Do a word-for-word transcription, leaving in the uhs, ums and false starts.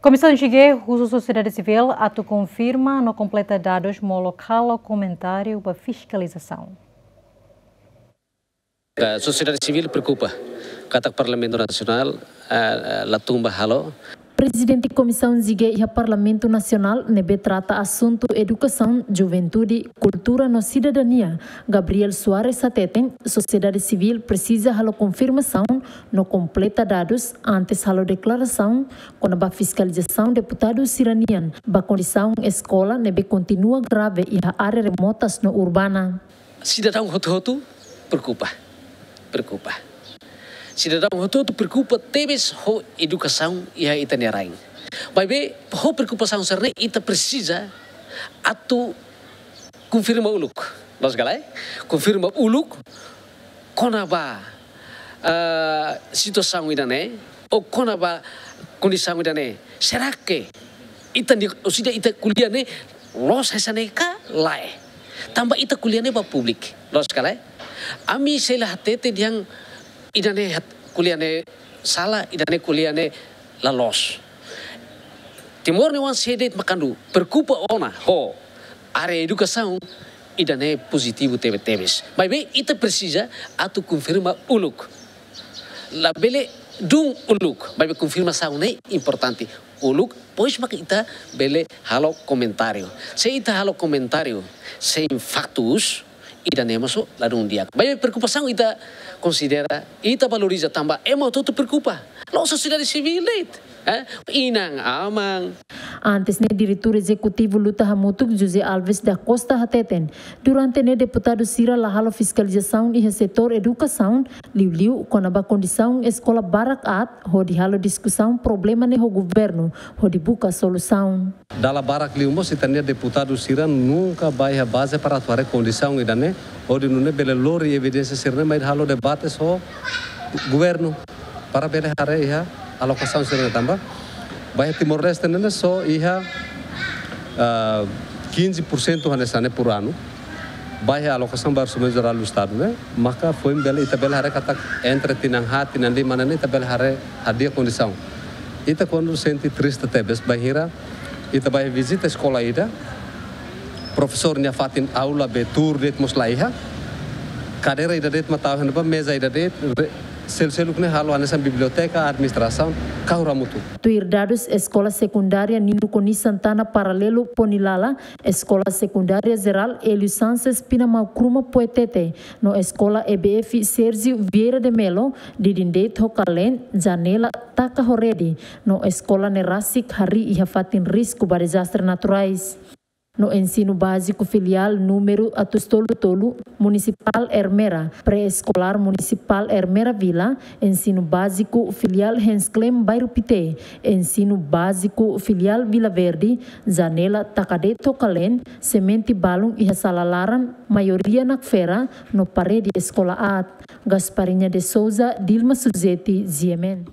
Komisaun G G husu sosiedade sivíl atu konfirma no kompleta dadus molok halo komentáriu ba fiskalizasaun. Eh, sosiedade sivíl preokupa katak Parlamentu Nasionál, eh, eh, la tun ba halo. Prezidente Komisaun G G iha Parlamentu Nasionál ne'ebé trata asuntu edukasaun, juventude, kultura no sidadania, Gabriel Soares hateten, sosiedade sivíl presiza halo konfirmasaun no kompleta dadus antes halo deklarasaun kona-ba fiskalizasaun deputadu sira-nian ba kondisaun eskola ne'ebé kontinua grave iha área remotas no urbana. Sidadaun hotu-hotu preokupa, preokupa. Sidadaun hotu-hotu preokupa tebes ho edukasaun iha ita-nia rain. Maibé, ho preokupasaun sira-ne'e ita presiza atu konfirma uluk. Loos ka lae? Konfirma uluk kona-ba, eh, situasaun ida-ne'e, ou kona-ba kondisaun ida-ne'e. Será que ita ni, ou seja, ita ko'alia ne'e loos hanesan ne'e ka lae? Tanba ita ko'alia ne'e ba públiku, loos ka lae? Ami sei la hatete dehan ida-ne'e hat-, ko'alia ne'e sala, ida-ne'e ko'alia ne'e la loos. Timor-Leste sei de'it mak kuandu preokupa ona ho área edukasaun, ida-ne'e pozitivu tebe-tebes. Maibé ita presiza atu konfirma uluk. Labele dún uluk, maibé konfirmasaun ne'e importante. Uluk, depois mak ita bele halo komentáriu. Se ita halo komentáriu sein faktus, ida-ne'e mós ladún di'ak. Maibé preokupasaun ita konsidera, ita valoriza tanba ema hotu-hotu preokupa. La'ós sosiedade sivíl de'it, eh? Inan-aman. Antes ne'e, Diretór Ezekutivu Luta Hamutuk, José Alves da Costa, hateten, durante ne'e deputadu sira la halo fiskalizasaun iha setór edukasaun, liuliu kona-ba kondisaun eskola barak aat, hodi halo diskusaun problema ne'e ho governu, hodi buka solusaun. Dala barak liu mós ita-nia deputadu sira nunka bá iha baze para atu haree kondisaun ida-ne'e, hodi nune'e bele lori evidénsia sira-ne'e mai halo debate ho governu para bele haree iha alokasaun sira-ne'e tanba. Ba iha Timor-Leste ne'e só iha, ah, quinze por cento hanesan ne'e por ano. Ba iha alokasaun ba Orsamentu Jerál do Estadu ne'e, maka foin bele ita bele haree katak entre tinan haat, tinan lima ne'e ita bele haree hadi'a kondisaun. Ita kuandu sente triste tebes bainhira ita bá vizita eskola ida, profesór nia fatin aula be tuur de'it mós la iha, kadeira ida de'it mak tau iha ne'ebá, meza ida de'it, re-, selu-seluk ne'e halo hanesan biblioteka, administrasaun, kahur hamutuk. Tuir dadus Eskola Sekundária Nino Konis Santana Paralelu Ponilala, Eskola Sekundária Jerál Hélio Sanches Pinamau Kruma Poetete, no Eskola E B F Sérgio Vieira de Melo, didin de'it ho kaleen, janela taka ho rede, no eskola ne'e rasik harii iha fatin risku ba dezastre naturais. No Ensinu Báziku Filiál númeru atus tolu tolu, Munisipál Ermera, Pré-Eskolár Munisipál Ermera Vila, Ensinu Báziku Filiál Hans Klem Bairru Pité, Ensinu Báziku Filiál Vila Verde, janela taka de'it ho kaleen, semente balun iha sala laran, maioria nakfera, no parede eskola aat. Gasparinha de Souza, Dilma Suzeti, G M N.